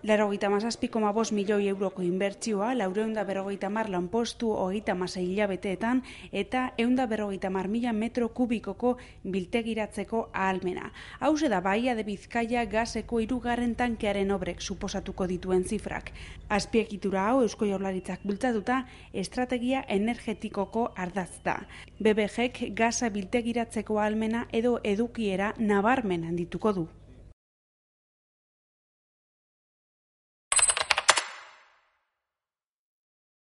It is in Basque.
97,5 milioi euroko inbertsioa, 450 lanpostu 36 hilabeteetan eta 150.000 metro kubikoko biltegiratzeko ahalmena. Hauxe da Bahia de Bizkaia gaseko 3. tankearen obrek suposatuko dituen zifrak. Azpiegitura hau Eusko Jaurlaritzak bultzatuta estrategia energetikoko ardatz da. BBGek gasa biltegiratzeko ahalmena edo edukiera nabarmen handituko du.